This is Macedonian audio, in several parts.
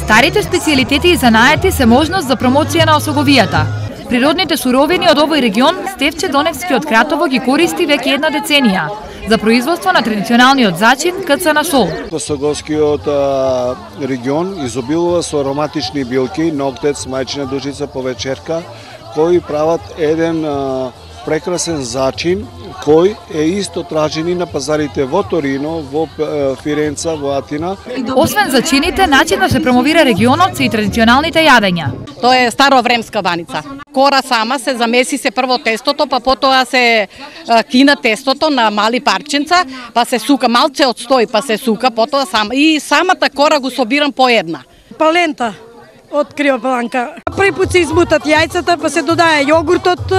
Старите специјалитети и занаети се можност за промоција на осоговијата. Природните суровини од овој регион Стефче Доневски од Кратово ги користи веќе една деценија за производство на традиционалниот зачин кцна сол. Осоговскиот регион изобилува со ароматични билки, ноктец, мајчина душица, повечерка, кои прават еден прекрасен зачин кој е исто тражен и на пазарите во Торино, во Фиренца, во Атина. Освен зачините, начин да се промовира регионот се и традиционалните јадења. Тоа е старовремска баница. Кора сама се замеси се прво тестото, па потоа се кина тестото на мали парченца, па се сука малце од стој, па се сука, потоа сама и самата кора го собирам по една. Палента од криопланка. Први пат се измутат јајцата, па се додае јогуртот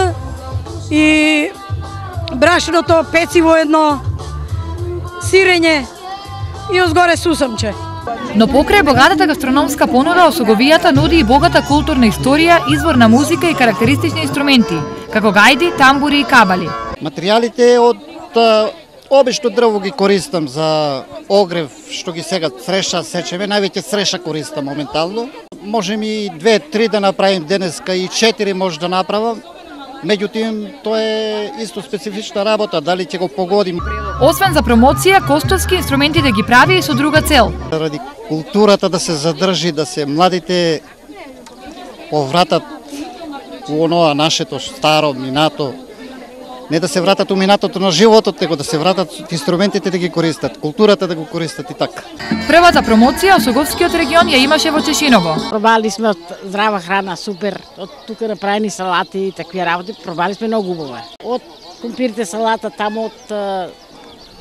и брашното, пeciво едно, сирење и озгоре сусамче. Но покрај богатата гастрономска понуда, осоговијата нуди и богата културна историја, извор на музика и карактеристични инструменти, како гајди, тамбури и кабали. Материјалите од обично дрво ги користам за огрев, што ги сега цреша сечеме, највеќе цреша користам моментално. Можем и 2-3 да направим денеска и 4 може да направам. Меѓутоа, тоа е исто специфична работа, дали ќе го погодим. Освен за промоција, Костовски инструменти да ги прави и со друга цел. Ради културата да се задржи, да се младите повратат во оноа нашето старо минато. Не да се вратат у минатото на животот, него да се вратат инструментите да ги користат, културата да го користат и така. Првата промоција Осоговскиот регион ја имаше во Чешиново. Пробали сме од здрава храна, супер, од тука направени салати и такви работи, пробали сме многу убаво. Од компирите салата, таму од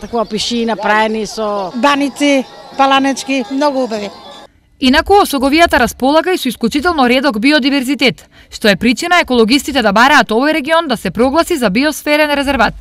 такова пиши направени со Баници, паланечки, многу убави. Инаку осоговијата располага и со исклучително редок биодиверзитет, што е причина екологистите да бараат овој регион да се прогласи за биосферен резерват.